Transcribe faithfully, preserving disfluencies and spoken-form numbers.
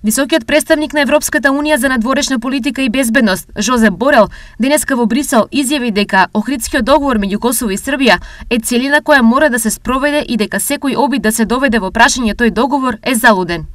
Високиот представник на Европската унија за надворешна политика и безбедност, Жозеп Борел, денеска во Брисел изјави дека Охридскиот договор меѓу Косово и Србија е целина која мора да се спроведе и дека секој обид да се доведе во прашање тој договор е залуден.